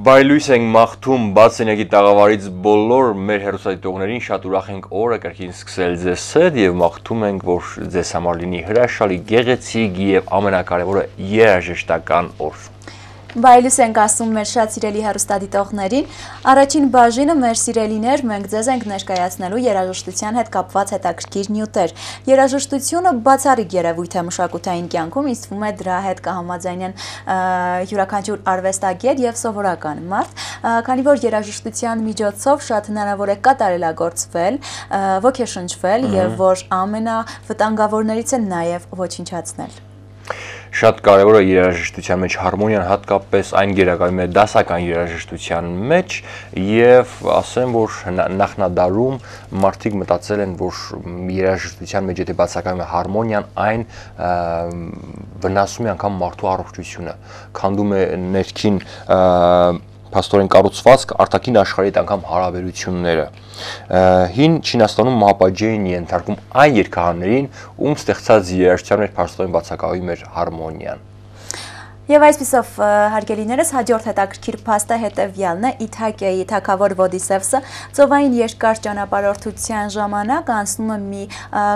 Բայլույս ենք մաղթում բաց սենյակի տաղավարից բոլոր մեր հեռուստադիտողներին, շատ ուրախ ենք օրը կրկին սկսել ձեզ հետ եւ մաղթում ենք, որ ձեզ համար լինի հրաշալի, գեղեցիկ եւ ամենակարևորը երաժշտական օր։ Բայլույս ենք ասում մեր շատ սիրելի հեռուստադիտողներին, առաջին բաժինը մեր սիրելիներ, մենք ձեզ ենք ներկայացնելու երաժշտության հետ կապված հետաքրքիր նյութեր։ Երաժշտությունը բացառիկ երևույթ է մշակութային կյանքում, ինձ թվում է դրա հետ կհամաձայնեն յուրաքանչյուր արվեստագետ եւ սովորական մարդ, քանի որ երաժշտության միջոցով շատ հնարավոր է կատարելագործվել, ոգեշնչվել եւ որ ամենավտանգավորներից է նաեւ ոչնչացնել։ Շատ կարևոր է երաժշտության մեջ հարմոնիան, հատկապես այն գերակայում է դասական երաժշտության մեջ եւ ասեմ, որ նախնադարում մարդիկ մտածել են, որ երաժշտության մեջ եթե բացակայում է հարմոնիան, այն վնասում է անգամ մարդու առողջությունը, քանդում է ներքին փաստորեն կառուցվածք, արտաքին աշխարհի հետ անգամ հարաբերությունները։ Հին Չինաստանում մահապատժ էին ենթարկում այն երգահաններին, ում ստեղծած երաժշտության մեջ փաստորեն բացակայում էր հարմոնիան։ Եվ այսպիսով հարգելիներս հաջորդ հետաքրքիր փաստը հետևյալն է՝ Իթակիայի թագավոր Ոդիսևսը ծովային երկար ճանապարհորդության ժամանակ անցնում է մի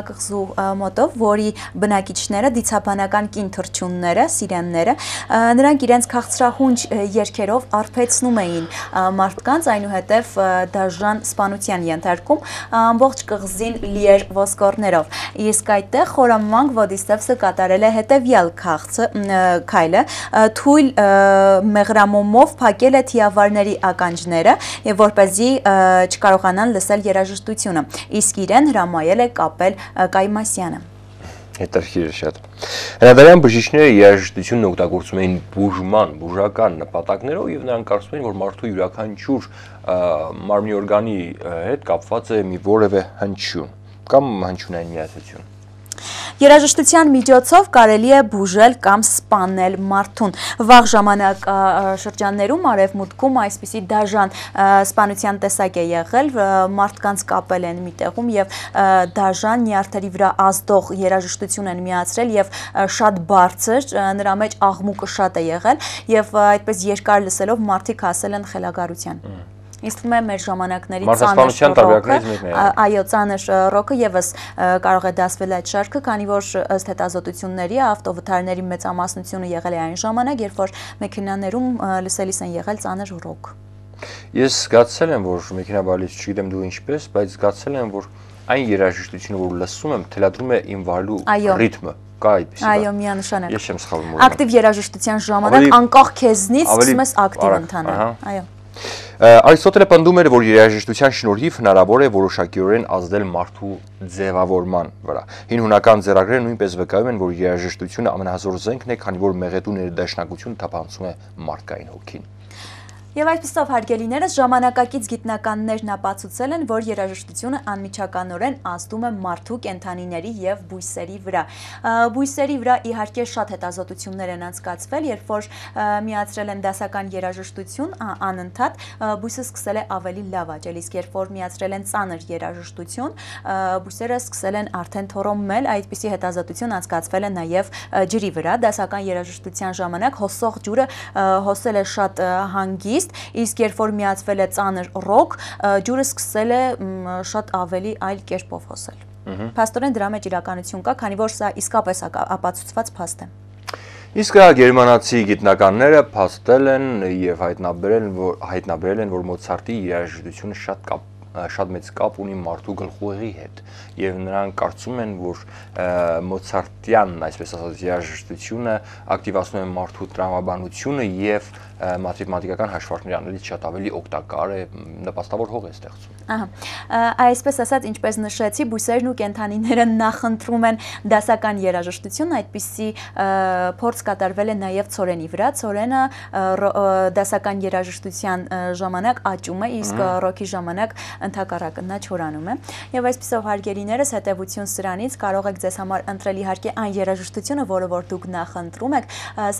կղզու մոտով, որի բնակիչները դիցաբանական կին թռչունները, սիրենները, նրանք իրենց քաղցրահունչ երգերով արփեցնում էին մարդկանց, այնուհետև դաժան սպանության ենթարկում, ամբողջ կղզին լի էր ոսկորներով։ Իսկ այդտեղ խորամանկ Ոդիսևսը կատարել է հետևյալ քայլը, թույլ մեղրամոմով փակել է թիավարների ականջները եւ որպեսզի չկարողանան լսել երաժշտությունը, իսկ իրեն հրամայել է կապել Կայմասյանը։ Հետաքրքիր է շատ։ Հրադարյան բժիշկները երաժշտությունն օգտագործում էին բուժական նպատակներով եւ նրանք կարծում էին, որ մարդու յուրաքանչյուր մարմնի օրգանի հետ կապված է մի որևէ հնչյուն կամ հնչյունային միացություն։ Երաժշտության միջոցով կարելի է բուժել կամ սպանել մարդուն։ Վաղ ժամանակաշրջաններում արևմուտքում այսպիսի դաժան սպանության տեսակ է եղել, մարդկանց կապել են մի տեղում եւ դաժան նյարդերի վրա ազդող երաժշտություն են միացրել եւ շատ բարձր, նրա մեջ աղմուկը շատ է եղել եւ այդպես երկար լսելով մարդիկ հասել են խելագարության։ Ինձ թվում է մեր ժամանակների ծանր ռոքը եւս կարող է դասվել այդ շարքը, քանի որ ըստ հետազոտությունների ավտովթարների մեծամասնությունը եղել է այն ժամանակ, երբ որ մեքենաներում լսելիս են եղել ծանր ռոք։ Ես զգացել եմ, որ մեքենաբարից չգիտեմ դու ինչպես, բայց զգացել եմ, որ այն երաժշտությունը, որ լսում եմ, թելադրում է իմ վարելու ռիթմը։ Այո, միանշանակ։ Ես չեմ սխալվում։ Ակտիվ երաժշտության ժամանակ անկախ քեզնից սկսում ես ակտիվ ընթանալ։ Այո։ Արիստոտելը պնդում էր, որ երաժշտության շնորհիվ հնարավոր է որոշակիորեն ազդել մարդու ձևավորման վրա։ Հին հունական ձեռագրերը նույնպես վկայում են, որ երաժշտությունը ամենահզոր զենքն է, քանի որ մեղեդու ներդաշնակությունը թափանցում է մարդկային հոգին։ Եվ այսպիսով հարգելիներս ժամանակակից գիտնականներն ապացուցել են, որ երաժշտությունը անմիջականորեն ազդում է մարդու, կենդանիների եւ բույսերի վրա։ Բույսերի վրա իհարկե շատ հետազոտություններ են անցկացվել, երբ որ միացրել են դասական երաժշտություն, անընդհատ բույսը սկսել է ավելի լավ աճել, իսկ երբ որ միացրել են ծանր երաժշտություն, բույսերը սկսել են արդեն թոռոմել, այդպիսի հետազոտություն անցկացվել է նաեւ ջրի վրա, դասական երաժշտության ժամանակ հոսող ջուրը հոսել է շատ հանգիստ, իսկ երբ որ միացվել է ծանր ռոք, ջուրը սկսել է շատ ավելի այլ կերպով հոսել։ Փաստորեն դրա մեջ իրականություն կա, քանի որ սա իսկապես ապացուցված փաստ է։ Իսկ գերմանացի գիտնականները փաստել են եւ հայտնաբերել են, որ Մոցարտի երաժշտությունը շատ մեծ կապ ունի մարդու գլխուղեղի հետ եւ նրանք կարծում են, որ Մոցարտյան, այսպես ասած, երաժշտությունը ակտիվացնում է մարդու տրամաբանությունը եւ մաթեմատիկական հաշվարկներ անելիս շատ ավելի օգտակար է, նպաստավոր հող է ստեղծում։ Այսպես ասած, ինչպես նշեցի, բույսերն ու կենդանիները նախընտրում են դասական երաժշտություն, այդպիսի փորձ կատարվել է նաև ցորենի վրա։ Ցորենը դասական երաժշտության ժամանակ աճում է, իսկ ռոքի ժամանակ ընդհակառակը նա չորանում է։ Եվ այսպիսով հարգելիներս, հետևություն սրանից կարող եք ձեզ համար ընտրել իհարկե այն երաժշտությունը, որը որ դուք նախընտրում եք,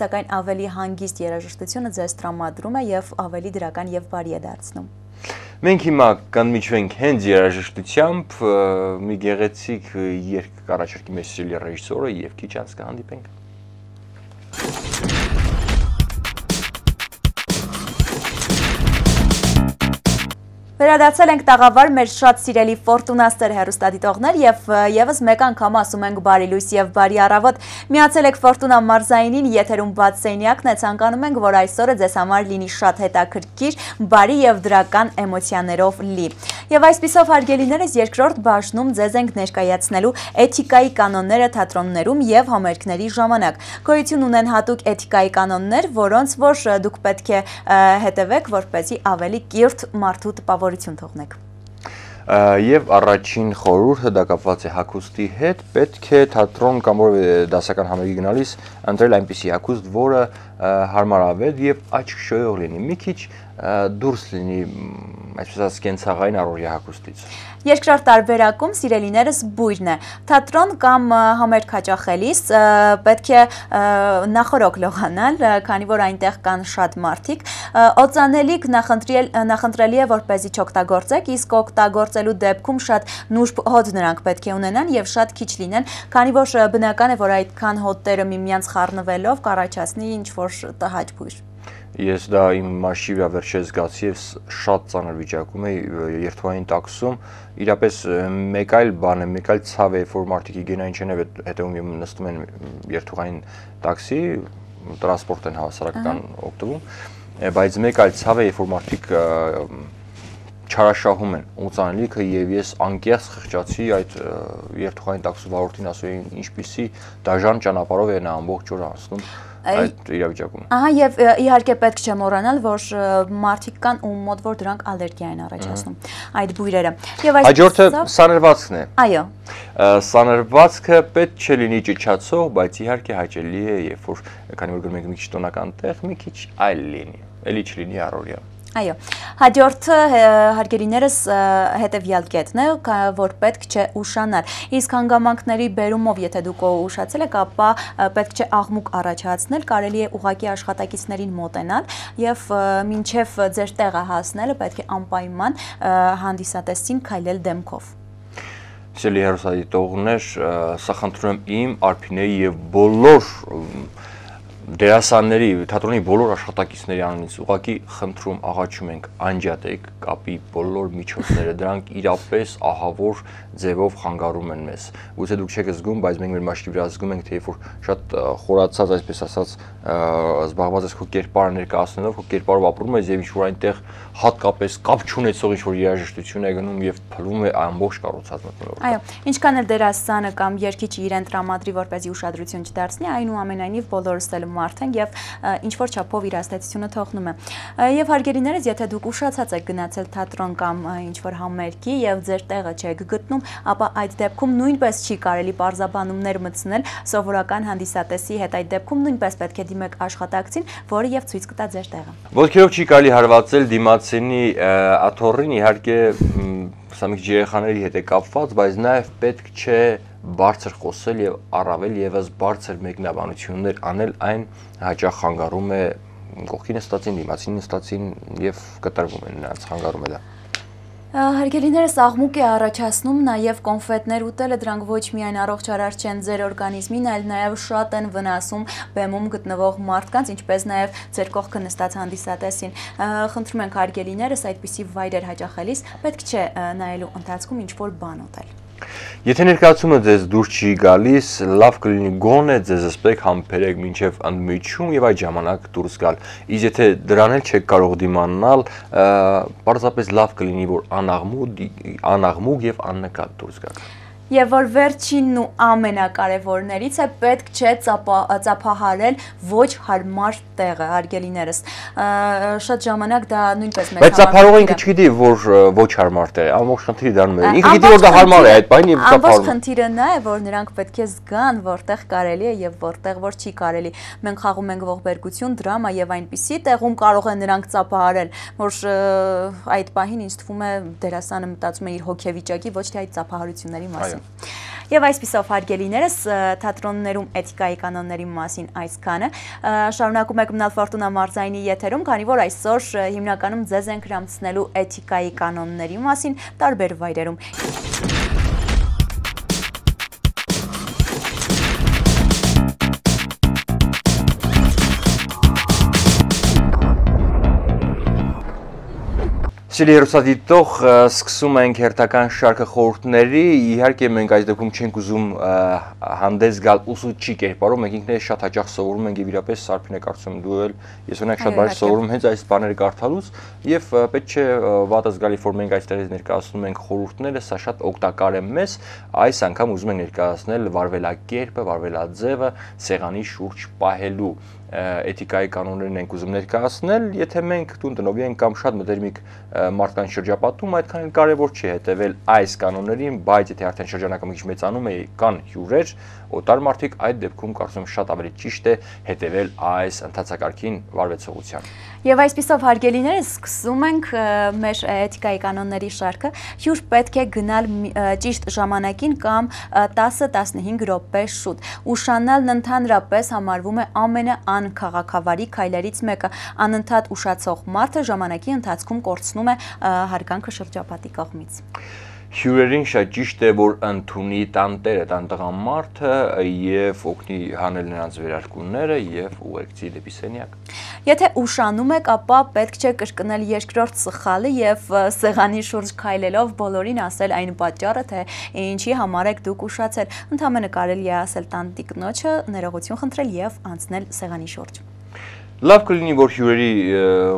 սակայն ավելի հանգիստ երաժշտությունը ձեզ տրամադրում է եւ ավելի դրական եւ բարի է դարձնում։ Մենք հիմա կընդմիջվենք հենց երաժշտությամբ, մի գեղեցիկ երգ կառաջարկի մեզ սիրելի ռեժիսորը եւ քիչ անց կհանդիպենք։ Վերադարձել ենք տաղավար մեր շատ սիրելի Ֆորտունաստեր հեռուստադիտողներ եւ եւս մեկ անգամ ասում ենք բարի լույս եւ բարի առավոտ։ Միացել եք Ֆորտունա մարզայինին, եթերում բաց սենյակն է, ցանկանում ենք, որ այսօրը ձեզ համար լինի շատ հետաքրքիր, բարի եւ դրական էմոցիաներով լի։ Եվ այսպիսով հարգելիներս երկրորդ բաժնում ձեզ ենք ներկայացնելու էթիկայի կանոնները թատրոններում եւ համերգների ժամանակ։ Գոյություն ունեն հատուկ էթիկայի կանոններ, որոնց որ դուք պետք է հետևեք, որպեսզի ավելի կիրթ մարդու տպավորություն թողնեք։ Եվ առաջին խորհուրդը դա կապված է հագուստի հետ, պետք է թատրոն կամ որևէ դասական համերգի գնալիս ընտրել այնպիսի հագուստ, որը հարմարավետ եւ աչք շոյող լինի, մի քիչ դուրս լինի, այսպես ասած, կենցաղային առօրյա հագուստից։ Երկրորդ տարբերակում սիրելիներս բույրն է։ Թատրոն կամ համերգ հաճախելիս պետք է նախորոք լողանալ, քանի որ այնտեղ կան շատ մարդիկ։ Օծանելիք նախընտրելի է, որպեսզի չօգտագործեք, իսկ օգտագործելու դեպքում շատ նուրբ հոտ նրանք պետք է ունենան եւ շատ քիչ լինեն, քանի որ բնական է, որ այդքան հոտերը միմյանց խառնվելով կառաջացնի ինչ-որ տհաճ բույր։ Ես դա իմ մաշի վրա վերջերս զգացի եւ շատ ծանր վիճակում էի երթուղային տաքսում, իրապես մեկ այլ բան է, մեկ այլ ցավ է, որ մարդիկ գենային չեն հետևում եւ նստում են երթուղային տաքսի, տրանսպորտ են հավասարական օգտվում, բայց մեկ այլ ցավ է, որ մարդիկ չարաշահում են օծանելիքը եւ ես անկեղծ խղճացի այդ երթուղային տաքսու վարորդին, ասում էին ինչպիսի դաժան ճանապարհով է նա ամբողջ օրը անցնում այդ իրավիճակում։ Ահա եւ իհարկե պետք չէ մոռանալ, որ մարդիկ կան ում մոտ որ դրանք ալերգիա են առաջացնում այդ բույրերը։ Եվ այս հաջորդը սանրվածքն է։ Այո։ Սանրվածքը պետք չէ լինի ճիչացող, բայց իհարկե հաճելի է, երբ որ քանի որ գնում եք մի քիչ տոնական տեղ, մի քիչ այլ լինի, էլի չլինի առօրյա։ Այո, հաջորդը հարգելիներս հետևյալ կետն է, որ պետք չէ ուշանալ։ Իսկ հանգամանքների բերումով, եթե դուք ուշացել եք, ապա պետք չէ աղմուկ առաջացնել, կարելի է ուղղակի աշխատակիցներին մոտենալ եւ մինչեւ ձեր տեղը հասնելը պետք է անպայման հանդիսատեսին քայլել դեմքով։ Սիրելի հեռուստադիտողներ, սա խնդրում եմ իմ, Արփինեի եւ բոլոր դերասանների, թատրոնի բոլոր աշխատակիցների անունից ուղղակի խնդրում աղաչում ենք անջատեք կապի բոլոր միջոցները, դրանք իրապես ահավոր ձևով խանգարում են մեզ։ Գուցե դուք չեք զգում, բայց մենք մեր մաշկի վրա զգում ենք, թե երբ որ շատ խորացած, այսպես ասած, զբաղված ես քո կերպարը ներկայացնելով, քո կերպարով ապրում ես եւ ինչ-որ այնտեղ հատկապես կապ չունեցող ինչ-որ երաժշտություն է գնում եւ փլվում է ամբողջ կառուցած մտնոլորտը։ Այո, ինչքան էլ դերասանը կամ երգիչը իրեն տրամադրի, որպեսզի ուշադրություն չդարձնի, այնուամենայնիվ բոլորս էլ մարդ ենք եւ ինչ-որ չափով իր ազդեցությունը թողնում է։ Եվ հարգելիներս, եթե դուք ուշացած եք գնացել թատրոն կամ ինչ-որ համերգի եւ ձեր տեղը չեք գտնում, ապա այդ դեպքում նույնպես չի կարելի պարզաբանումներ մտցնել սովորական հանդիսատեսի հետ, այդ դեպքում նույնպես պետք է դիմեք աշխատակցին, որը եւ ցույց կտա ձեր տեղը։ Ոտքերով չի կարելի հարվածել դիմացինի աթոռին, իհարկե սա մի քիչ երեխաների հետ է կապված, բայց նաեւ պետք չէ բարձր խոսել եւ առավել եւս բարձր մեկնաբանություններ անել, այն հաճախ խանգարում է կողքի նստածին, դիմացին նստածին եւ կտրվում է նրանց, խանգարում է դա։ Հարգելիներս, աղմուկ է առաջացնում նաև կոնֆետներ ուտելը, դրանք ոչ միայն առողջարար չեն ձեր օրգանիզմին, այլ նաև շատ են վնասում բեմում գտնվող մարդկանց, ինչպես նաև ձեր կողքը նստած հանդիսատեսին։ Խնդրում ենք հարգելիներս, այդպիսի վայրեր հաճախելիս պետք չէ նայելու ընթացքում ինչ-որ բան ուտել։ Եթե ներկայացումը ձեզ դուրս չի գալիս, լավ կլինի գոնե ձեզ զսպեք, համբերեք մինչև ընդմիջում եւ այդ ժամանակ դուրս գալ։ Իսկ եթե դրան էլ չեք կարող դիմանալ, պարզապես լավ կլինի, որ անաղմուկ եւ աննկատ դուրս գաք։ Եվ որ վերջինն ու ամենակարևորներից է, պետք չէ ծափահարել ոչ հարմար տեղը, հարգելիներս։ Շատ ժամանակ դա նույնպես մեծ բայց ծափահարողը ինքը չգիտի, որ ոչ հարմար տեղ է, ամբողջ խնդիրը դառնում է։ Ինքը գիտի, որ դա հարմար է այդ բանը եւ ծափահարում։ Ամբողջ խնդիրը նա է, որ նրանք պետք է զգան, որտեղ կարելի է եւ որտեղ որ չի կարելի։ Մենք խաղում ենք ողբերգություն, դրամա եւ այնպիսի տեղում կարող են նրանք ծափահարել, որ այդ պահին ինձ թվում է դերասանը մտածում է իր հոգեվիճակի, ոչ թե այդ ծափահարությունների մասին։ Եվ այսպիսով հարգելիներս, թատրոններում էթիկայի կանոնների մասին այսքանը։ Շարունակում եք մնալ Ֆորտունա մարզայինի եթերում, քանի որ այսօր հիմնականում ձեզ ենք հրամցնելու էթիկայի կանոնների մասին տարբեր վայրերում։ Սիրելի հեռուստադիտող, սկսում ենք հերթական շարքը խորհուրդների, իհարկե մենք այս դեպքում չենք ուզում հանդես գալ ուսուցչի կերպարով, մենք ինքներս շատ հաճախ սովորում ենք եւ իրապես Սարփին է կարծում դու էլ, ես օրինակ շատ բարձր սովորում հենց այս բաները կարդալուց եւ պետք չէ վատը զգալի որ մենք այստեղից ներկայացնում ենք խորհուրդները, սա շատ օգտակար է մեզ, այս անգամ ուզում ենք ներկայացնել վարվելակերպը, վարվելաձևը սեղանի շուրջ պահելու էթիկայի կանոններն ենք ուզում ներկայացնել, եթե մենք տուն տնօրեն ենք կամ շատ մտերմիկ մարդկանց շրջապատում, այդքան էլ կարևոր չի հետևել այս կանոններին, բայց եթե արդեն շրջանակը մի քիչ մեծանում է, կան հյուրեր, օտար մարդիկ, այդ դեպքում կարծում եմ շատ ավելի ճիշտ է հետևել այս ընթացակարգին վարվեցողության։ Եվ այսպիսով հարգելիներս սկսում ենք մեր էթիկայի կանոնների շարքը, հյուր պետք է գնալ ճիշտ ժամանակին կամ 10-15 րոպե շուտ։ Ուշանալն ընդհանրապես համարվում է ամենաանքաղաքավարի քայլերից մեկը։ Անընդհատ ուշացող մարդը ժամանակի ընթացքում կորցնում է հարգանքը շրջապատի կողմից։ Հյուրերին շատ ճիշտ է, որ ընդունի տանտերը, տան տղամարդը եւ օգնի հանել նրանց վերարկուները եւ ուղեկցի դեպի սենյակ։ Եթե ուշանում եք, ապա պետք չէ կրկնել երկրորդ սխալը եւ սեղանի շուրջ քայլելով բոլորին ասել այն պատճառը, թե ինչի համար եք դուք ուշացել։ Ընդհանրապես կարելի է ասել տանտիկնոջը, ներողություն խնդրել եւ անցնել սեղանի շուրջ։ Լավ կլինի, որ հյուրերի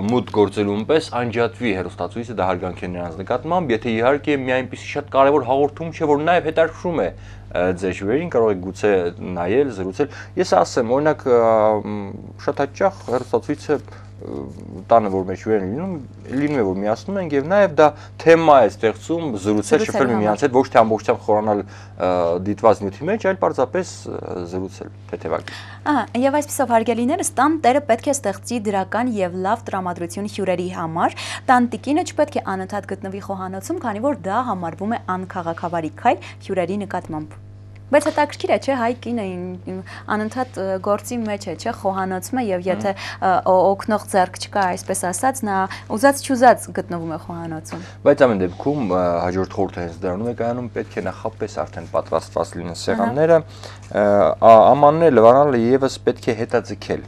մուտք գործելուն պես անջատվի հեռուստացույցը, դա հարգանք է նրանց նկատմամբ, եթե իհարկե մի այնպիսի շատ կարևոր հաղորդում չէ, որ նաև հետաքրքրում է ձեր հյուրերին, կարող եք գուցե նայել, զրուցել։ Ես ասեմ, օրինակ շատ հաճախ հեռուստացույցը տանը որ մեր հյուրերն լինում է որ միացնում ենք եւ նաեւ դա թեմա է ստեղծում զրուցել շփվել միմյանց հետ ոչ թե ամբողջությամբ խորանալ դիտված նյութի մեջ այլ պարզապես զրուցել թեթևակի։ Ահա եւ այսպեսով հարգելիներս տան տերը պետք է ստեղծի դրական եւ լավ տրամադրություն հյուրերի համար տանտիկինը չպետք է անընդհատ գտնվի խոհանոցում քանի որ դա համարվում է անքաղաքավարի քայլ հյուրերի նկատմամբ։ Բայց հետաքրքիր է, չէ, հայ կինը անընդհատ գործի մեջ է, չէ, խոհանոցում է եւ եթե օգնող ձեռք չկա, այսպես ասած, նա ուզած-չուզած գտնվում է խոհանոցում։ Բայց ամեն դեպքում հաջորդ խորհուրդը հենց դրանում է կայանում, պետք է նախապես արդեն պատրաստված լինեն սեղանները, ամանները լվանալը եւս պետք է հետաձգել։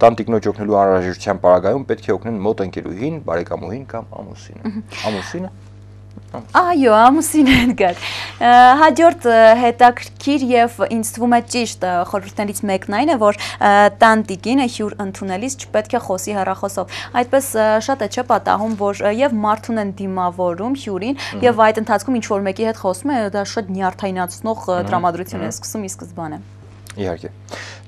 Տանտիկնոջ օգնելու անհրաժեշտության պարագայում պետք է օգնեն մոտ ընկերուհին, բարեկամուհին կամ ամուսինը։ Ամուսինը Այո, ամուսին են գալ։ Հաջորդ հետաքրքիր եւ ինձ թվում է ճիշտ խորհուրդներից մեկն այն է, որ տանտիկինը հյուր ընդունելիս չպետք է խոսի հեռախոսով։ Այդպես շատ է չէ պատահում, որ եւ մարդուն են դիմավորում հյուրին եւ այդ ընթացքում ինչ որ մեկի հետ խոսում է, դա շատ նյարդայնացնող տրամադրություն է սկսում ի սկզբանե։ Իհարկե։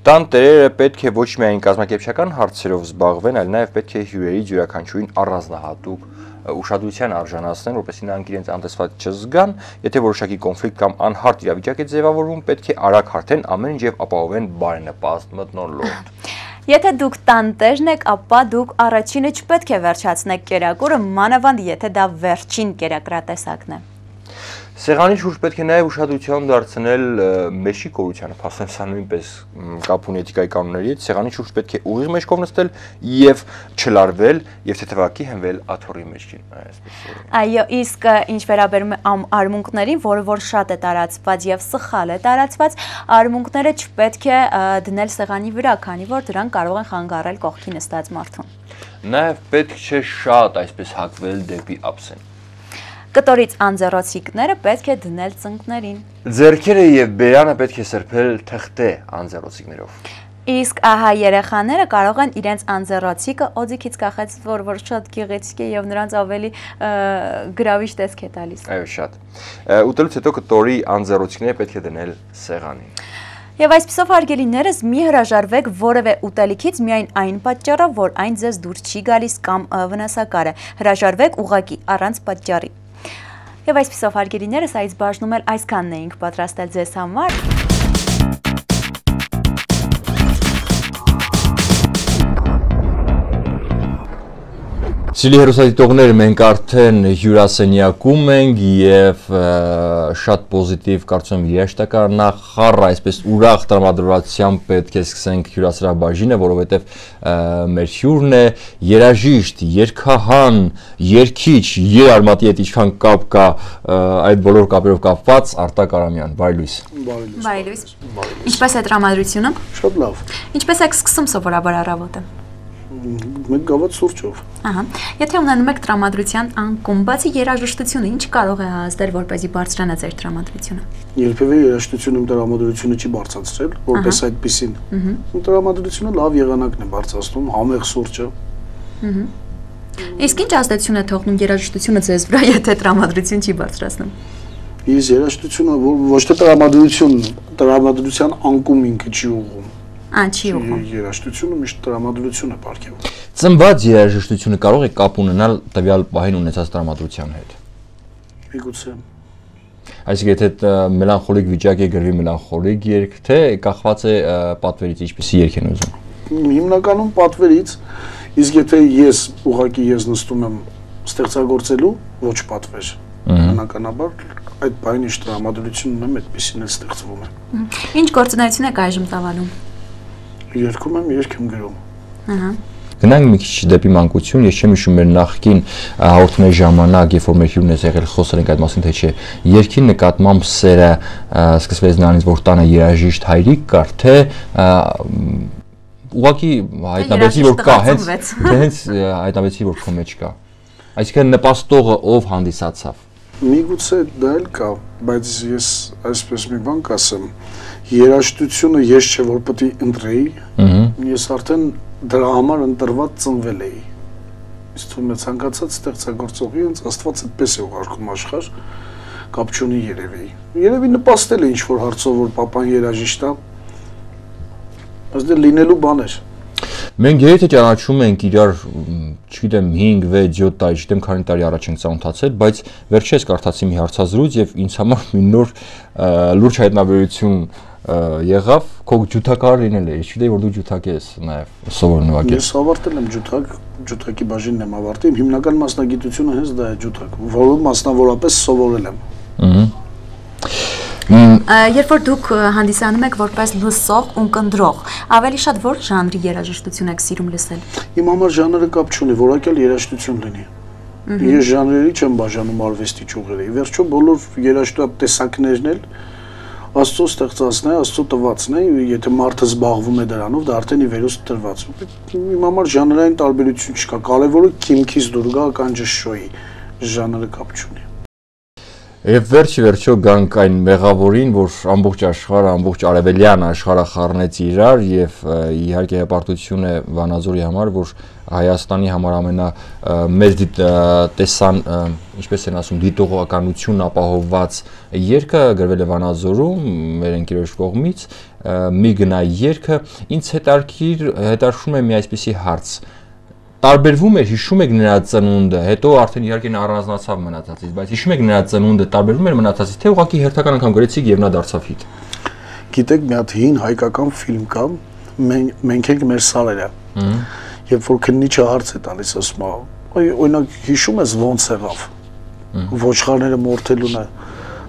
Տան տերերը պետք է ոչ միայն կազմակերպչական հարցերով զբաղվեն, այլ նաև պետք է հյուրերի յուրաքանչյուրին առանձնահատուկ ուշադրության արժանացնեն, որպեսզի նրանք իրենց անտեսված չզգան, եթե որոշակի կոնֆլիկտ կամ անհարթ իրավիճակ է ձևավորվում, պետք է արագ հարթեն ամեն ինչ եւ ապահովեն բարենպաստ մթնոլորտ։ Եթե դուք տանտերն եք, ապա դուք առաջինը չպետք է վերջացնեք կերակուրը, մանավանդ եթե դա վերջին կերակրատեսակն է։ Սեղանի շուրջ պետք է նաև ուշադրություն դարձնել մեջի կորությանը, փաստորեն սա նույնպես կապ ունի էթիկայի կանոնների հետ, սեղանի շուրջ պետք է ուղիղ մեջքով նստել եւ չլարվել եւ թեթևակի հենվել աթոռի մեջքին, այսպես։ Այո, իսկ ինչ վերաբերում է արմունկներին, որը որ շատ է տարածված եւ սխալ է տարածված, արմունկները չպետք է դնել սեղանի վրա, քանի որ դրանք կարող են խանգարել կողքի նստած մարդուն։ Նաև պետք չէ շատ այսպես հակվել դեպի ափսեն։ Կտորից անձեռոցիկները պետք է դնել ծնկներին։ Ձեռքերը եւ բերանը պետք է սրբել թղթե անձեռոցիկներով։ Իսկ ահա երեխաները կարող են իրենց անձեռոցիկը օձիքից կախած, որ շատ գեղեցիկ է եւ նրանց ավելի գրավիչ տեսք է տալիս։ Այո, շատ։ Ուտելուց հետո կտորի անձեռոցիկները պետք է դնել սեղանին։ Եվ այսպիսով հարգելիներս մի հրաժարվեք որևէ ուտելիքից միայն այն պատճառով, որ այն ձեզ դուր չի գալիս կամ վնասակար է։ Հրաժարվեք ուղղակի առանց պատճառի։ Եվ այսպիսով հարգելիներս այս բաժնում էլ այսքանն էինք պատրաստել ձեզ համար։ Սիրելի հեռուստադիտողներ, մենք արդեն հյուրասենյակում ենք եւ շատ պոզիտիվ կարծում եմ երաշտական նախառ, այսպես ուրախ տրամադրվածությամբ պետք է սկսենք հյուրասրահբաժինը, որովհետեւ մեր հյուրն է երաժիշտ, երգահան, երգիչ, երարմատի հետ ինչքան կապ կա այդ բոլոր կապերով կապված Արտակ Արամյան, բարի լույս։ Բարի լույս։ Ինչպես է տրամադրությունը։ Շատ լավ։ Ինչպես եք սկսում սովորաբար առավոտը։ Մեկ գավաթ սուրճով։ Ահա։ Եթե ունենում եք տրամադրության անկում, բացի երաժշտությունը, ինչ կարող է հասնել, որպեսզի բարձրանա ձեր տրամադրությունը։ Երբևէ երաժշտությունը տրամադրությունը չի բարձրացրել, որպես այդպեսին։ Տրամադրությունը լավ եղանակն է բարձրացնում, համեղ սուրճը։ Իսկ ինչ ազդեցություն է թողնում երաժշտությունը ձեզ վրա, եթե տրամադրություն չի բարձրացնում։ Ես երաժշտությունը ոչ թե տրամադրության անկում ինքը չի ուղղում։ Չի ուղղում։ Երաժշտությունը միշտ տրամադրություն է պարգևում։ Ծնված երաժշտությունը կարող է կապ ունենալ տվյալ պահին ունեցած տրամադրության հետ։ Միգուցե։ Այսինքն եթե մելանխոլիկ վիճակ է գրվի մելանխոլիկ երգ, թե կախված է պատվերից, ինչպիսի երգ են ուզում։ Հիմնականում պատվերից, իսկ եթե ես ուղղակի նստում եմ ստեղծագործելու, ոչ պատվեր։ Բնականաբար այդ բանի ինչ տրամադրությունն եմ, այդպեսին էլ ստեղծվում է։ Ինչ գործունեություն եք այժմ ծավալում։ Երգում եմ, երգ եմ գրում։ Գնանք մի քիչ դեպի մանկություն, ես չեմ հիշում մեր նախկին հաղորդումների ժամանակ, երբ որ մեր հյուրն ես եղել, խոսել ենք այդ մասին, թե չէ, երգի նկատմամբ սերը սկսվեց նրանից, որ տանը երաժիշտ հայրիկ կար, թե ուղղակի հայտնաբերեցի, որ կա, հենց հայտնաբերեցի, որ քո մեջ կա։ Այսինքն նպաստողը ով հանդիսացավ։ Միգուցե դա էլ կա, բայց ես այսպես մի բան կասեմ, երաժշտությունը ես չէ որ պետք է ընտրեի, ես արդեն դրա համար ընտրված ծնվել էի։ Իսկ թվում է ցանկացած ստեղծագործողի հենց Աստված այդպես է ուղարկում աշխարհ, կապ չունի երևի։ Երևի նպաստել է ինչ որ հարցով, որ papan երաժիշտ է, բայց դա լինելու բան էր։ Մենք եթե ճանաչում ենք իրար, չգիտեմ 5, 6, 7 տարի, չգիտեմ քանի տարի առաջ ենք ծանոթացել, բայց վերջերս կարդացի մի հարցազրույց եւ ինձ համար մի նոր լուրջ հայտնաբերություն եղավ, քո ջութակար լինել է, ես չգիտեի որ դու ջութակ ես նաեւ սովորել նվագել։ Ես ավարտել եմ ջութակի բաժինն եմ ավարտել, հիմնական մասնագիտությունը հենց դա է ջութակ, որը մասնավորապես սովորել եմ։ Երբ որ դուք հանդիսանում եք որպես լսող ու կնդրող, ավելի շատ որ ժանրի երաժշտություն եք սիրում լսել։ Իմ համար ժանրը կապ չունի, որակյալ երաժշտություն լինի։ Ես ժանրերի չեմ բաժանում արվեստի ճյուղերի։ Վերջո բոլոր երաժշտատեսակներն էլ Աստծո ստեղծածն է, Աստծո տվածն է, եթե մարդը զբաղվում է դրանով, դա արդեն ի վերուս տրված։ Իմ համար ժանրային տարբերություն չկա, կարևորը քիմքից դուր գա կանջշոյի, ժանրը կապ չունի։ Եվ վերջը գանք այն մեղավորին, որ ամբողջ աշխարհը, ամբողջ արևելյան աշխարհը խառնեց իրար եւ իհարկե հպարտություն է Վանաձորի համար, որ Հայաստանի համար ամենամեծ տեսան, ինչպես են ասում, դիտողականություն ապահովված երգը գրվել է Վանաձորում մեր ընկերոջ կողմից, մի գնա երգը, ինձ հետաքրքրում է մի այսպիսի հարց։ Տարբերվում էր, հիշում եք նրա ծնունդը, հետո արդեն իհարկե նա առանձնացավ մնացածից, բայց հիշում եք նրա ծնունդը, տարբերվում էր մնացածից, թե ուղղակի հերթական անգամ գրեցիք եւ նա դարձավ հիթ։ Գիտեք, մի հատ հին հայկական ֆիլմ կա, մենք ենք մեր սարերը։ Երբ որ քննիչը հարց է տալիս, ասում է, օրինակ հիշում ես ոնց եղավ։ Ոչխարները մորթելուն է։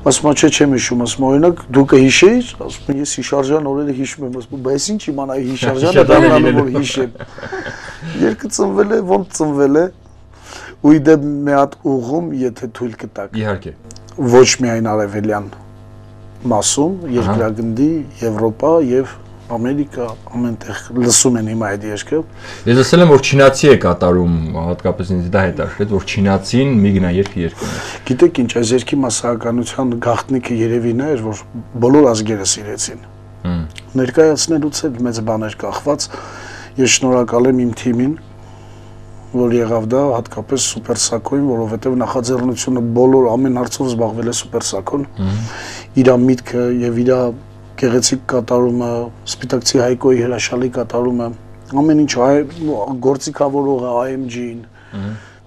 Ասում է, չէ, չեմ հիշում, ասում է, օրինակ դու կհիշեիր, ասում եմ, ես հիշարժան օրերը հիշում եմ, ասում եմ, բայց ինչ իմանայի հիշարժանը դառնալու որ հիշեմ։ Երկը ծնվել է, ոնց ծնվել է, ու իդե մի հատ ուղում, եթե թույլ կտակ։ Իհարկե։ Ոչ միայն արևելյան մասում, երկրագնդի, Եվրոպա եւ Ամերիկա, ամենտեղ լսում են հիմա այդ երգը։ Ես ասել եմ, որ չինացի է կատարում, հատկապես ինձ դա հետաքրքրեց, որ չինացին մի գնա երգը երգում է։ Գիտեք ինչ, այս երգի մասսայականության գաղտնիքը երևի նա էր, որ բոլոր ազգերը սիրեցին։ Ներկայացնելուց էլ մեծ բաներ կախված։ Ես շնորհակալ եմ իմ թիմին, որ եղավ դա հատկապես Սուպեր Սակոին, որովհետև նախաձեռնությունը բոլոր ամեն հարցով զբաղվել է Սուպեր Սակոն։ Իր միտքը եւ իր գեղեցիկ կատարումը, Սպիտակցի Հայկոյի հրաշալի կատարումը, ամեն ինչ գործիքավորողը AMG-ին։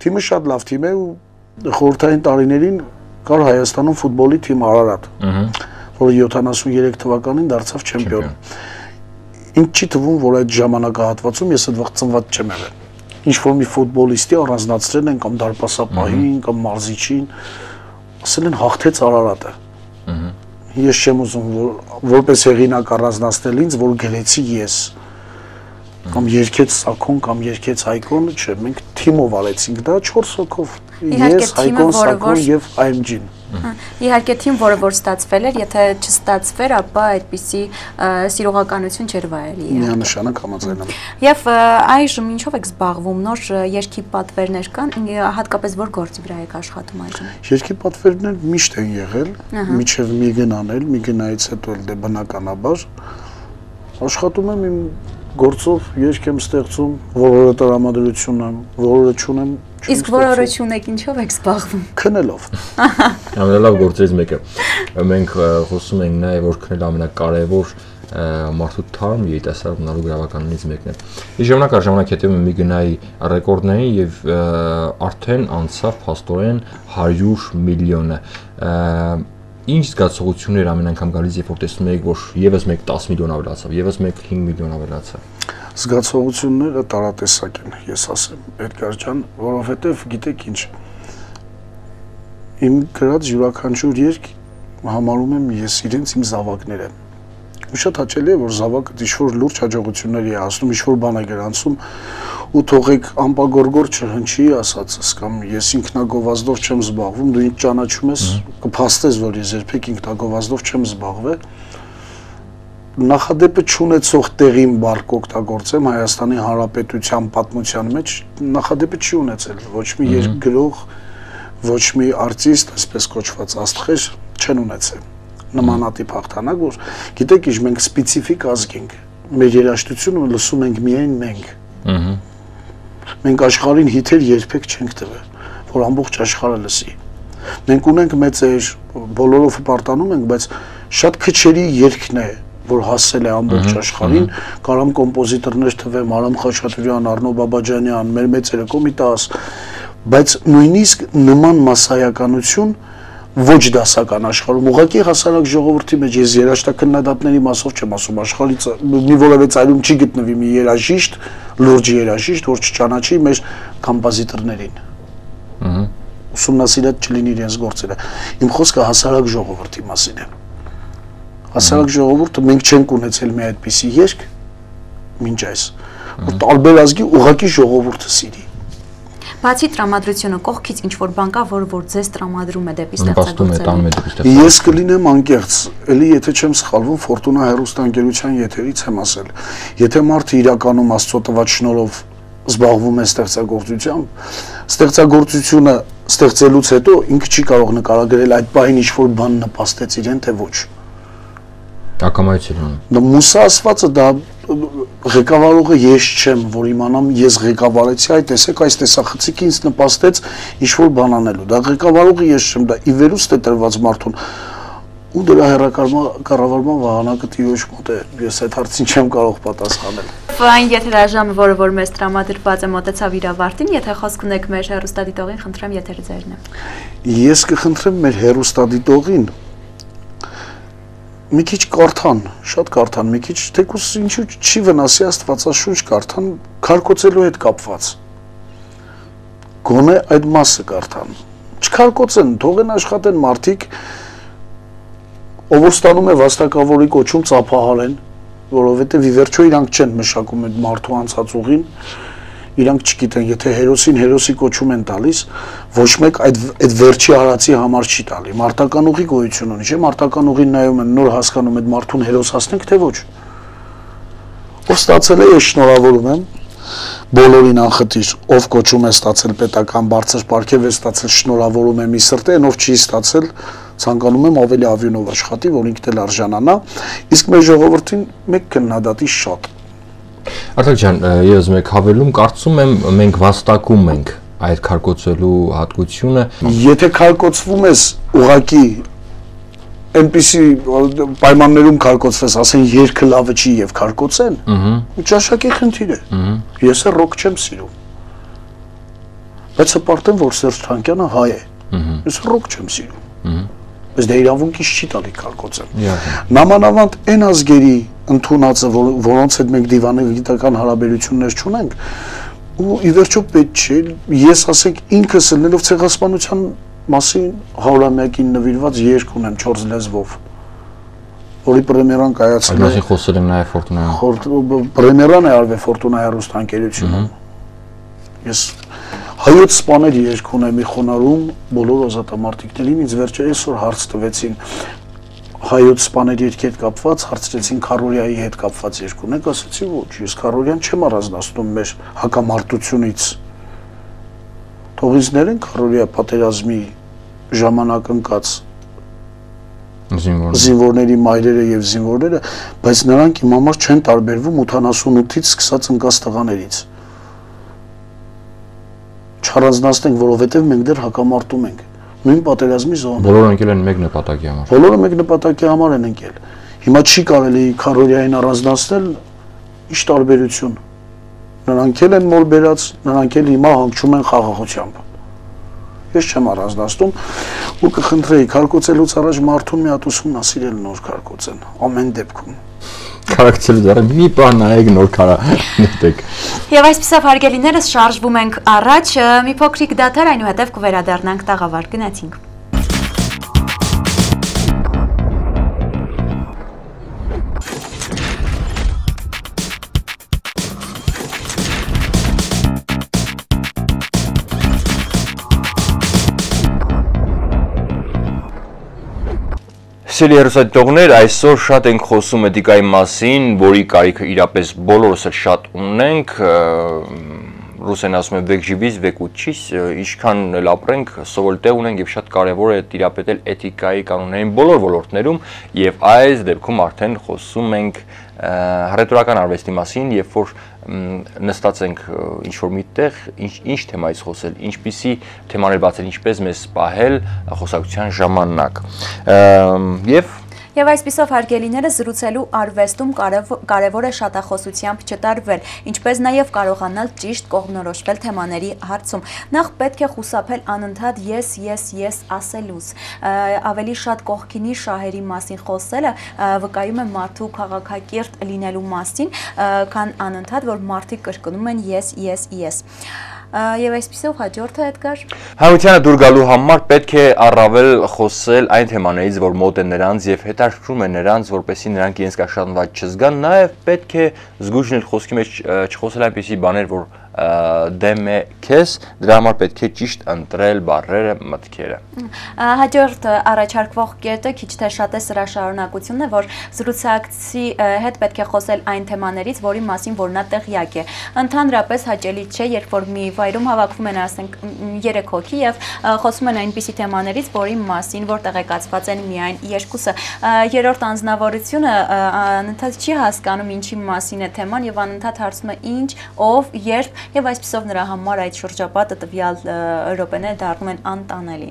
Թիմը շատ լավ թիմ է ու խորհրդային տարիներին կար Հայաստանում ֆուտբոլի թիմ Արարատ, որը 73 թվականին դարձավ չեմպիոն։ Ինչ չի թվում, որ այդ ժամանակահատվածում ես այդ վաղ ծնված չեմ եղել։ Ինչ որ մի ֆուտբոլիստի առանձնացրել են կամ դարպասապահին կամ մարզիչին, ասել են հաղթեց Արարատը։ Ես չեմ ուզում որպես հեղինակ առանձնացնել ինձ, որ գրեցի ես կամ երկեց Սակոն կամ երկեց Հայկոն, չէ, մենք թիմով արեցինք դա 4 հոգով։ Ես, Հայկոն, Սակոն եւ AMG-ն։ Իհարկե թիմ, որը որ ստացվել էր, եթե չստացվեր, ապա այդպիսի սիրողականություն չէր վայելի։ Միանշանակ համաձայն եմ։ Եվ այժմ ինչով եք զբաղվում, նոր երգի պատվերներ կան, հատկապես որ գործի վրա եք աշխատում այժմ։ Երգի պատվերներ միշտ են եղել, միջև մի գնանել, մի գնայից հետո էլ դե բնականաբար աշխատում եմ իմ գործով, երգ եմ ստեղծում, որորը տրամադրություն եմ, որորը չունեմ։ Իսկ որորը չունեք, ինչով եք զբաղվում։ Քնելով։ Ամենալավ գործերից մեկը։ Մենք խոսում ենք նաև որ քնելը ամենակարևոր մարդու թարմ երիտասարդ մնալու գրավականներից մեկն է։ Ի ժամանակ առ ժամանակ հետևում եմ մի գնայի ռեկորդներին եւ արդեն անցավ փաստորեն 100 միլիոնը։ Ինչ զգացողություններ ամեն անգամ գալիս, երբ որ տեսնում եք, որ եւս մեկ 10 միլիոն ավելացավ, եւս մեկ 5 միլիոն ավելացավ։ Զգացողությունները տարատեսակ են, ես ասեմ, Էդգար ջան, որովհետեւ գիտեք ինչ։ Իմ գրած յուրաքանչյուր երգ համարում եմ ես իրենց իմ զավակները։ Ու շատ հաճելի է, որ զավակը ինչ-որ լուրջ հաջողությունների է հասնում, ինչ-որ բան է գրանցում ու թողեք ամպագորգոր չհնչի ասածս կամ ես ինքնագովազդով չեմ զբաղվում, դու ինձ ճանաչում ես, կփաստես, որ ես երբեք ինքնագովազդով չեմ զբաղվել։ Նախադեպը չունեցող տեղին բառք օգտագործեմ Հայաստանի Հանրապետության պատմության մեջ, նախադեպը չի ունեցել, ոչ մի երկգրող, ոչ մի արտիստ, այսպես կոչված աստղեր չեն ունեցել նմանատիպ հաղթանակ, որ գիտեք ինչ մենք սպეციფიկ ազգ ենք, մեր երաժշտությունը լսում ենք միայն մենք։ Մենք աշխարհին հիթեր երբեք չենք տվել, որ ամբողջ աշխարհը լսի։ Մենք ունենք մեծեր, բոլորով պարտանում ենք, բայց շատ քչերի երգն է, որ հասել է ամբողջ աշխարհին, կարամ կոմպոզիտորներ թվեմ, Արամ Խաչատուրյան, Արնո Բաբաջանյան, մեր մեծերը Կոմիտաս, բայց նույնիսկ նման մասսայականություն ոչ դասական աշխարհում ուղղակի հասարակ ժողովրդի մեջ ես երաժշտաքննադատների մասով չեմ ասում աշխարհից մի որևէ ծայրում չի գտնվի մի երաժիշտ լուրջ երաժիշտ որ չճանաչի մեր կոմպոզիտորներին ուսումնասիրած չլինի իրենց գործերը իմ խոսքը հասարակ ժողովրդի մասին է հասարակ ժողովուրդը մենք չենք ունեցել մի այդպիսի երգ մինչ այս որ տարբեր ազգի ուղղակի ժողովուրդը սիրի Բացի տրամադրությունը կողքից ինչ որ բան կա, որ ձեզ տրամադրում է դեպի ստեղծագործել։ Ես կլինեմ անկեղծ, էլի եթե չեմ սխալվում, Ֆորտունա հեռուստաընկերության եթերից եմ ասել։ Եթե մարդը իրականում Աստծո տված շնորհով զբաղվում է ստեղծագործությամբ, ստեղծագործությունը ստեղծելուց հետո ինքը չի կարող նկարագրել այդ բային ինչ որ բան նպաստեց իրեն, թե ոչ։ Ակամայություն։ Դա Մուսա ասվածը դա ղեկավարողը ես չեմ, որ իմանամ ես ղեկավարեցի, այ տեսեք այս տեսախցիկը ինձ նպաստեց ինչ-որ բան անելու։ Դա ղեկավարողը ես չեմ, դա ի վերուստ է տրված մարդուն։ Ու դրա կառավարման վահանակը տիրոջ մոտ է։ Ես այդ հարցին չեմ կարող պատասխանել։ Այն եթերաժամը, որը որ մեզ տրամադրված է, մոտեցավ իր ավարտին, եթե խոսք ունեք մեր հեռուստադիտողին, խնդրեմ եթերը ձերն է։ Ես կխնդրեմ մեր հեռուստադիտողին մի քիչ կարդան, շատ կարդան, մի քիչ թեկուզ ինչու չի վնասի Աստվածաշունչ կարդան, քարկոծելու հետ կապված։ Գոնե այդ մասը կարդան։ Չքարկոծեն, թողեն աշխատեն մարդիկ, ով ստանում է վաստակավորի կոչում ծափահարեն, որովհետև ի վերջո իրանք չեն մշակում այդ մարդու անցած ուղին, իրանք չգիտեն, եթե հերոսին հերոսի կոչում են տալիս, ոչ մեկ այդ վերջի արածի համար չի տալի։ Մարտական ուղի գոյություն ունի, չէ՞, մարտական ուղին նայում են, նոր հասկանում այդ մարդուն հերոս հասնենք, թե ոչ։ Ով ստացել է, ես շնորհավորում եմ բոլորին անխտիր, ով կոչում է ստացել պետական բարձր պարգև է ստացել, շնորհավորում եմ ի սրտե, ով չի ստացել, ցանկանում եմ ավելի ավյունով աշխատի, որ ինքն էլ արժանանա, իսկ մեր ժողովրդին մեկ քննադատի շատ Արտակ ջան, ես մեկ հավելում, կարծում եմ մենք վաստակում ենք այդ քարկոծելու հատկությունը։ Եթե քարկոծվում ես ուղակի այնպիսի պայմաններում քարկոծվես, ասեն երգը լավը չի եւ քարկոծեն, ճաշակի խնդիր է։ Ես է ռոք չեմ սիրում։ Բայց հպարտեմ, որ Սերժ Թանկյանը հայ է։ Ես ռոք չեմ սիրում։ Բայց դա իրավունքից չի տալի քարկոծեմ։ Նամանավանդ այն ազգերի ընդունածը, որոնց հետ մենք դիվանագիտական հարաբերություններ չունենք, ու ի վերջո պետք չէ, ես ասենք ինքս ելնելով ցեղասպանության մասին 100-ամյակին նվիրված երգ ունեմ 4 լեզվով, որի պրեմիերան կայացել է։ Այսինքն խոսել եմ նաև Ֆորտունայում։ Պրեմիերան է արվել Ֆորտունա հեռուստաընկերությունում։ Ես Հայոց սպաների երգ ունե մի խոնարհում բոլոր ազատամարտիկներին, ինձ վերջը այսօր հարց տվեցին հայոց սպաների երգի հետ կապված, հարցրեցին Քարորիայի հետ կապված երգ ունեք, ասացի ոչ, ես Քարորիան չեմ առանձնացնում մեր հակամարտությունից։ Թող ինձ ներեն Քարորիա պատերազմի ժամանակ ընկած զինվորների մայրերը եւ զինվորները, բայց նրանք իմ համար չեն տարբերվում 88-ից սկսած ընկած տղաներից։ Չառանձնացնենք, որովհետեւ մենք դեռ հակամարտում ենք։ Նույն պատերազմի զոնում։ Բոլորը ընկել են մեկ նպատակի համար։ Բոլորը մեկ նպատակի համար են ընկել։ Հիմա չի կարելի Քարորիային առանձնացնել, ինչ տարբերություն։ Նրանք էլ են մոր բերած, նրանք էլ հիմա հանգչում են խաղաղությամբ։ Ես չեմ առանձնացնում ու կխնդրեի քարկոծելուց առաջ մարդուն մի հատ ուսումնասիրել նոր քարկոծեն ամեն դեպքում։ Քարակցելուց առաջ մի բան նայեք նոր քարա նետեք։ Եվ այսպեսով հարգելիներս շարժվում ենք առաջ, մի փոքրիկ դադար, այնուհետև կվերադառնանք տաղավար, գնացինք։ Սիրելի հեռուստադիտողներ, այսօր շատ ենք խոսում էթիկայի մասին, որի կարիքը իրապես բոլորս էլ շատ ունենք, ռուսեն ասում է վեք ժիվից, վեք ուչիս, ինչքան էլ ապրենք, սովոր տեղ ունենք եւ շատ կարեւոր է տիրապետել էթիկայի կանոններին բոլոր ոլորտներում եւ այս դեպքում արդեն խոսում ենք հռետորական արվեստի մասին, երբ որ նստած ենք ինչ-որ միտեղ, ինչ թեմայից խոսել, ինչպիսի թեմաներ բացել, ինչպես մեզ պահել խոսակցության ժամանակ։ Եվ այսպիսով հարգելիները զրուցելու արվեստում կարևոր է շատախոսությամբ չտարվել, ինչպես նաև կարողանալ ճիշտ կողմնորոշվել թեմաների հարցում։ Նախ պետք է խուսափել անընդհատ ես ասելուց։ Ավելի շատ կողքինի շահերի մասին խոսելը վկայում է մարդու քաղաքակիրթ լինելու մասին, քան անընդհատ, որ մարդիկ կրկնում են ես։ Եվ այսպիսով հաջորդը Էդգար։ Հանրությանը դուր գալու համար պետք է առավել խոսել այն թեմաներից, որ մոտ են նրանց եւ հետաքրքրում են նրանց, որպեսզի նրանք իրենց կաշառնված չզգան, նաեւ պետք է զգույշ լինել խոսքի մեջ չխոսել այնպիսի բաներ, որ դեմ է քեզ, դրա համար պետք է ճիշտ ընտրել բառերը, մտքերը։ Հաջորդ առաջարկվող կետը քիչ թե շատ է սրա շարունակությունն է, որ զրուցակցի հետ պետք է խոսել այն թեմաներից, որի մասին որ նա տեղյակ է։ Ընդհանրապես հաճելի չէ, երբ որ մի վայրում հավաքվում են, ասենք 3 հոգի եւ խոսում են այնպիսի թեմաներից, որի մասին որ տեղեկացված են միայն երկուսը։ Երրորդ անձնավորությունը անընդհատ չի հասկանում ինչի մասին է թեման եւ անընդհատ հարցում է ինչ, ով, երբ Եվ այսպիսով նրա համար այդ շրջապատը տվյալ րոպեները դառնում են անտանելի։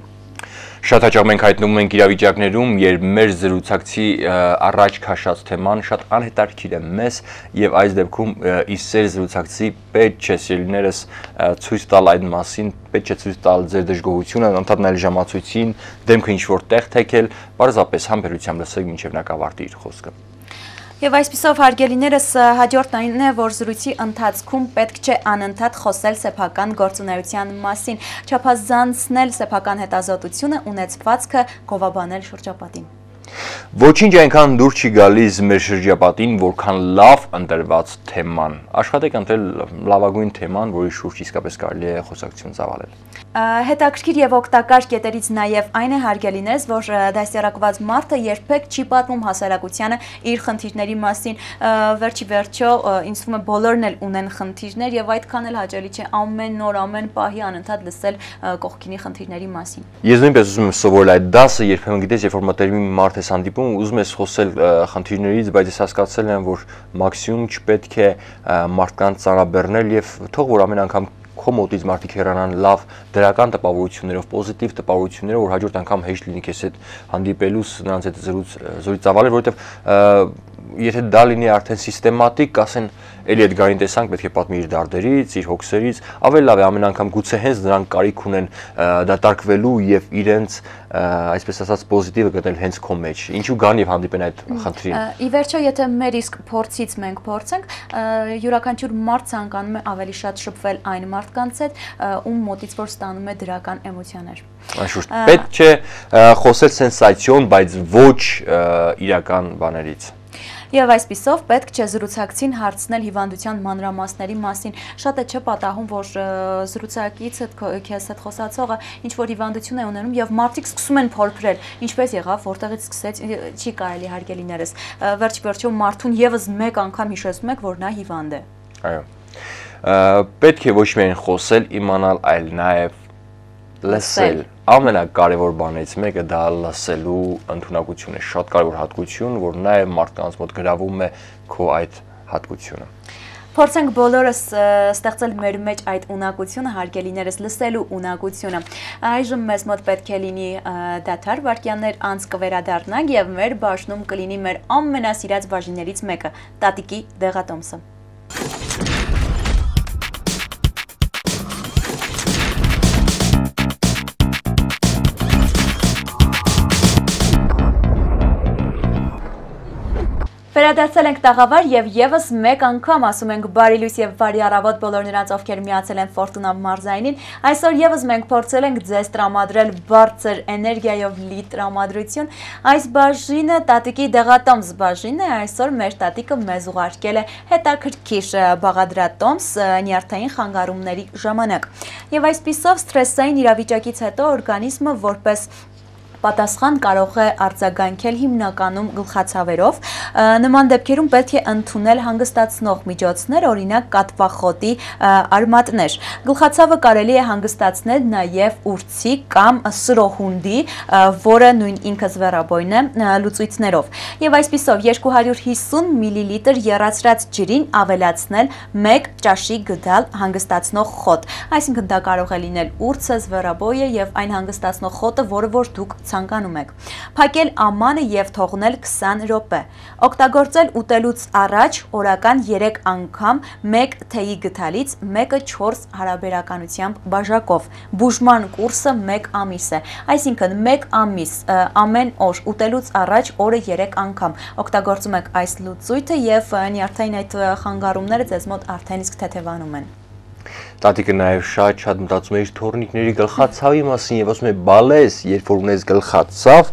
Շատ հաճախ մենք հայտնվում ենք իրավիճակներում, երբ մեր զրուցակցի առաջ քաշած թեման շատ անհետաքրքիր է մեզ եւ այս դեպքում իսեր զրուցակցի պետք չէ սիրելիներս ցույց տալ այդ մասին, պետք չէ ցույց տալ ձեր դժգոհությունը, ընդհանրապես նայել ժամացույցին, դեմքը ինչ որ տեղ թեքել, պարզապես համբերությամբ լսեք մինչեւ նա կավարտի իր խոսքը։ Եվ այսպիսով հարգելիներս հաջորդն այն է, որ զրույցի ընթացքում պետք չէ անընդհատ խոսել սեփական գործունեության մասին, չափազանցնել սեփական հետազոտությունը, ունեցվածքը, գովաբանել շրջապատին։ Ոչինչ այնքան դուր չի գալիս մեր շրջապատին, որքան լավ ընտրված թեման։ Աշխատեք ընտրել լավագույն թեման, որի շուրջ իսկապես կարելի է խոսակցություն ծավալել։ Հետաքրքիր եւ օգտակար կետերից նաեւ այն է հարգելիներս, որ դասյարակված մարդը երբեք չի պատմում հասարակությանը իր խնդիրների մասին, վերջի վերջո ինձ թվում է բոլորն էլ ունեն խնդիրներ եւ այդքան էլ հաճելի չէ ամեն նոր ամեն պահի անընդհատ լսել կողքինի խնդիրների մասին։ Ես նույնպես ուզում եմ սովորել այդ դասը, երբեմն գիտես, երբ որ մտերմի մարդ ես հանդիպում, ուզում ես խոսել խնդիրներից, բայց ես հասկացել եմ, որ մաքսիմում չպետք է մարդկանց ծանրաբեռնել եւ թող որ ամեն անգամ քո մոտից մարդիկ հեռանան լավ դրական տպավորություններով, պոզիտիվ տպավորություններով, որ հաջորդ անգամ հեշտ լինի քեզ հետ հանդիպելուց, նրանց հետ զրույց ծավալել, որովհետեւ եթե դա լինի արդեն սիստեմատիկ, ասեն էլի այդ գարին տեսանք, պետք է պատմի իր դարդերից, իր հոգսերից, ավելի լավ է ամեն անգամ գուցե հենց նրանք կարիք ունեն դատարկվելու եւ իրենց այսպես ասած պոզիտիվը գտնել հենց քո մեջ։ Ինչու գան եւ հանդիպեն այդ խնդրին։ Ի վերջո, եթե մեր իսկ փորձից մենք փորձենք, յուրաքանչյուր մարդ ցանկանում է ավելի շատ շփվել այն մարդկանց հետ, ում մոտից որ ստանում է դրական էմոցիաներ։ Անշուշտ պետք չէ խոսել սենսացիոն, բայց ոչ իրական բաներից։ Եվ այսպիսով պետք չէ զրուցակցին հարցնել հիվանդության մանրամասների մասին։ Շատ է չէ պատահում, որ զրուցակիցը քեզ հետ խոսացողը ինչ-որ հիվանդություն է ունենում եւ մարդիկ սկսում են փորփրել, ինչպես եղավ, որտեղից սկսեց, չի կարելի հարգելիներս։ Վերջ-վերջում մարդուն եւս մեկ անգամ հիշեցնում եք, որ նա հիվանդ է։ Այո։ Պետք է ոչ միայն խոսել, իմանալ, այլ նաեւ լսել։ Ամենակարևոր բանից մեկը դա լսելու ընդունակությունն է, շատ կարևոր հատկություն, որ նաև մարդկանց մոտ գրավում է քո այդ հատկությունը։ Փորձենք բոլորս ստեղծել մեր մեջ այդ ունակությունը, հարգելիներս, լսելու ունակությունը։ Այժմ մեզ մոտ պետք է լինի դադար վայրկյաններ անց կվերադառնանք եւ մեր բաժնում կլինի մեր ամենասիրած բաժիններից մեկը՝ տատիկի դեղատոմսը։ Վերադարձել ենք տաղավար եւ եւս մեկ անգամ ասում ենք բարի լույս եւ բարի առավոտ բոլոր նրանց, ովքեր միացել են Ֆորտունա մարզայինին։ Այսօր եւս մենք փորձել ենք ձեզ տրամադրել բարձր էներգիայով լի տրամադրություն։ Այս բաժինը տատիկի դեղատոմս բաժինն է, այսօր մեր տատիկը մեզ ուղարկել է հետաքրքիր բաղադրատոմս նյարդային խանգարումների ժամանակ։ Եվ այսպիսով սթրեսային իրավիճակից հետո օրգանիզմը որպես պատասխան կարող է արձագանքել հիմնականում գլխացավերով։ Նման դեպքերում պետք է ընդունել հանգստացնող միջոցներ, օրինակ կատվախոտի արմատներ։ Գլխացավը կարելի է հանգստացնել նաև ուրցի կամ սրոհունդի, որը նույն ինքը զվերաբույն է, լուծույթներով։ Եվ այսպիսով 250 մլ եռացրած ջրին ավելացնել 1 ճաշի գդալ հանգստացնող խոտ։ Այսինքն դա կարող է լինել ուրցը, զվերաբոյը եւ այն հանգստացնող խոտը, որը որ դուք ցանկանում եք։ Փակել ամանը եւ թողնել 20 րոպե։ Օգտագործել ուտելուց առաջ օրական 3 անգամ 1 թեյի գդալից 1-ը 4 հարաբերականությամբ բաժակով։ Բուժման կուրսը 1 ամիս է։ Այսինքն 1 ամիս ամեն օր ուտելուց առաջ օրը 3 անգամ օգտագործում եք այս լուծույթը եւ նյարդային այդ խանգարումները ձեզ մոտ արդեն իսկ թեթևանում են։ Տատիկը նաև շատ մտածում է իր թորնիկների գլխացավի մասին եւ ասում է բալես, երբ որ ունես գլխացավ,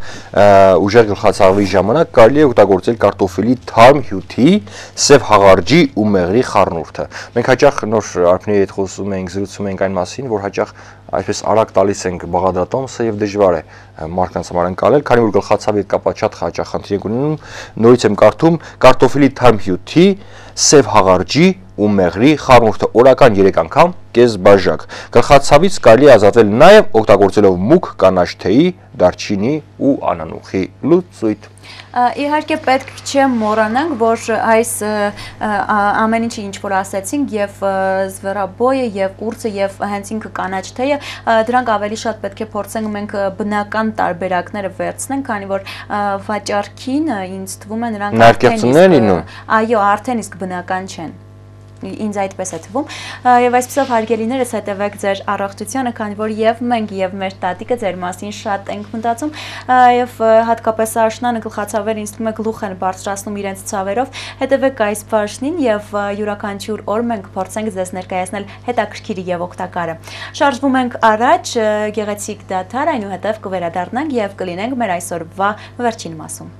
ուժեղ գլխացավի ժամանակ կարելի է օգտագործել կարտոֆիլի թարմ հյութի, սև հաղարջի ու մեղրի խառնուրդը։ Մենք հաճախ նոր արփների հետ խոսում ենք, զրուցում ենք այն մասին, որ հաճախ այսպես արագ տալիս ենք բաղադրատոմսը եւ դժվար է մարդկանց համար անցնել, քանի որ գլխացավի հետ կապված շատ հաճախ խնդիր ենք ունենում։ Նորից եմ կարդում կարտոֆիլի թարմ հյութի, սև հաղարջի ու մեղրի խառնուրդը օրական 3 անգամ կես բաժակ։ Գլխացավից կարելի է ազատվել նաև օգտագործելով մուգ կանաչ թեյի, դարչինի ու անանուխի լուծույթ։ Իհարկե պետք չէ մոռանանք, որ այս ամեն ինչը ինչ որ ասեցինք, եւ զվերաբոյը եւ ուրցը եւ հենց ինքը կանաչ թեյը, դրանք ավելի շատ պետք է փորձենք մենք բնական տարբերակները վերցնենք, քանի որ վաճառքին ինձ թվում է նրանք արդեն իսկ բնական չեն։ Ինձ այդպես է թվում, եւ այսպեսով հարգելիներս հետևեք ձեր առողջությանը, քանի որ եւ մենք եւ մեր տատիկը ձեր մասին շատ ենք մտածում, եւ հատկապես աշնանը գլխացավերը ինձ թվում է գլուխ են բարձրացնում իրենց ցավերով, հետևեք այս բաժնին եւ յուրաքանչյուր օր մենք փորձենք ձեզ ներկայացնել հետաքրքիր եւ օգտակարը։ Շարժվում ենք առաջ, գեղեցիկ դադար, այնուհետեւ կվերադառնանք եւ կլինենք մեր այսօրվա վերջին մասում։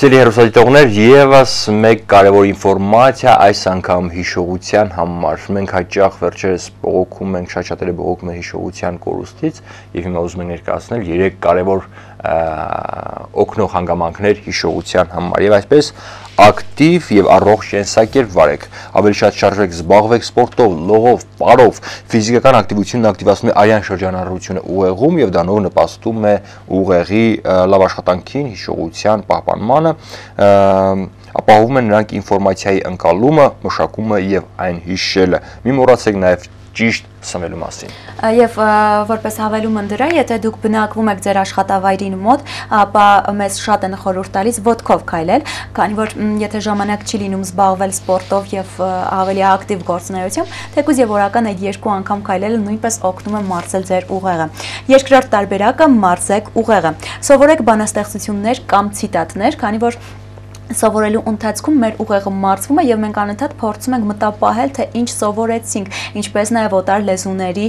Սիրելի հեռուստադիտողներ, եւս մեկ կարևոր ինֆորմացիա այս անգամ հիշողության համար։ Մենք հաճախ վերջերս բողոքում ենք, շատ-շատերը բողոքում են հիշողության կորուստից եւ հիմա ուզում ենք ներկայացնել 3 կարևոր օգնող հանգամանքներ հիշողության համար։ Եվ այսպես ակտիվ եւ առողջ կենսակերպ վարեք, ավելի շատ շարժեք, զբաղվեք սպորտով, լողով, պարով, ֆիզիկական ակտիվությունն ակտիվացնում է արյան շրջանառությունը ուղեղում եւ դա նոր նպաստում է ուղեղի լավ աշխատանքին, հիշողության պահպանմանը, ապահովում է նրանք ինֆորմացիայի ընկալումը, մշակումը եւ այն հիշելը։ Մի մոռացեք նաեւ ճիշտ սնվելու մասին։ Եվ որպես հավելում դրա, եթե դուք բնակվում եք ձեր աշխատավայրին մոտ, ապա մեզ շատ են խորհուրդ տալիս ոտքով քայլել, քանի որ եթե ժամանակ չի լինում զբաղվել սպորտով եւ ավելի ակտիվ գործունեությամբ, թեկուզ եւ օրական այդ 2 անգամ քայլելը նույնպես օգնում է մարզել ձեր ուղեղը։ Երկրորդ տարբերակը՝ մարզեք ուղեղը։ Սովորեք բանաստեղծություններ կամ ցիտատներ, քանի որ սովորելու ընթացքում մեր ուղեղը մարզվում է եւ մենք անընդհատ փորձում ենք մտապահել թե ինչ սովորեցինք, ինչպես նաեւ օտար լեզուների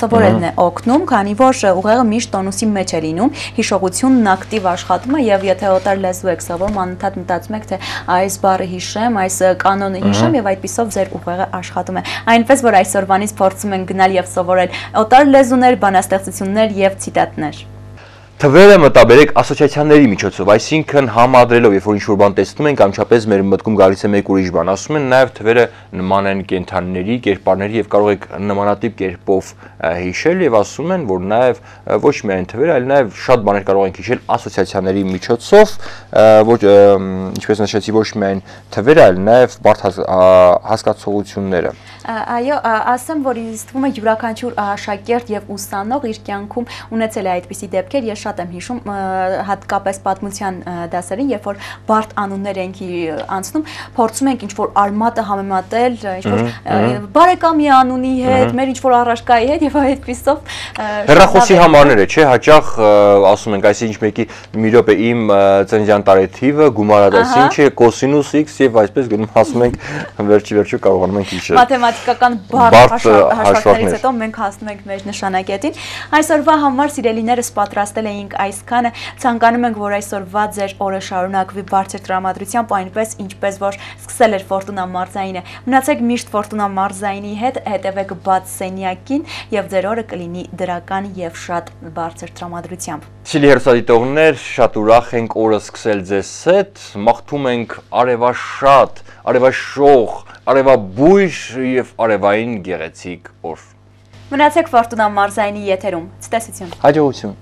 սովորելն է օգնում, քանի որ ուղեղը միշտ տոնուսի մեջ է լինում, հիշողությունն ակտիվ աշխատում է եւ եթե օտար լեզու եք սովորում, անընդհատ մտածում եք թե այս բառը հիշեմ, այս կանոնը հիշեմ եւ այդպիսով ձեր ուղեղը աշխատում է։ Այնպես որ այսօրվանից փորձում ենք գնալ եւ սովորել օտար լեզուներ, բանաստեղծություններ եւ ցիտատներ։ Թվերը մտաբերեք ասոցիացիաների միջոցով, այսինքն համադրելով, երբ որ ինչ-որ բան տեսնում ենք, անմիջապես մեր մտքում գալիս է մեկ ուրիշ բան, ասում են նաև թվերը նման են կենդանիների, կերպարների եւ կարող եք նմանատիպ կերպով հիշել եւ ասում են, որ նաև ոչ միայն թվերը, այլ նաև շատ բաներ կարող ենք հիշել ասոցիացիաների միջոցով, ոչ ինչպես նշեցի, ոչ միայն թվերը, այլ նաև բարդ հասկացողությունները։ Այո, ասեմ, որ ինձ թվում է յուրաքանչյուր աշակերտ եւ ուսանող իր կյանքում ունեցել է այդպիսի դեպքեր, ես շատ եմ հիշում հատկապես պատմության դասերին, երբ որ բարդ անուններ ենք անցնում, փորձում ենք ինչ-որ արմատը համեմատել, ինչ-որ բարեկամի անունի հետ, մեր ինչ-որ առարկայի հետ եւ այդպիսով հեռախոսի համարները, չէ, հաճախ ասում ենք, այսինքն մեկի մի րոպե իմ ծննդյան տարեթիվը գումարադաս ինչ է, կոսինուս x եւ այսպես գնում ասում ենք վերջի կարողանում ենք հիշել։ Մաթեմատիկական բարդ հաշվարկներից հետո մենք հասնում ենք մեր նշանակետին։ Այսօրվա համար սիրելիներս պատրաստել էինք այսքանը, ցանկանում ենք, որ այսօրվա ձեր օրը շարունակվի բարձր տրամադրությամբ, այնպես ինչպես որ սկսել էր Ֆորտունա մարզայինը։ Մնացեք միշտ Ֆորտունա մարզայինի հետ, հետևեք բաց սենյակին եւ ձեր օրը կլինի դրական եւ շատ բարձր տրամադրությամբ։ Սիրելի հեռուստադիտողներ, շատ ուրախ ենք օրը սկսել ձեզ հետ, մաղթում ենք արևաշատ, արևաշող, արևաբույր եւ արևային գեղեցիկ օր։ Մնացեք Ֆորտունա մարզայինի եթերում։ Ցտեսություն։ Հաջողություն։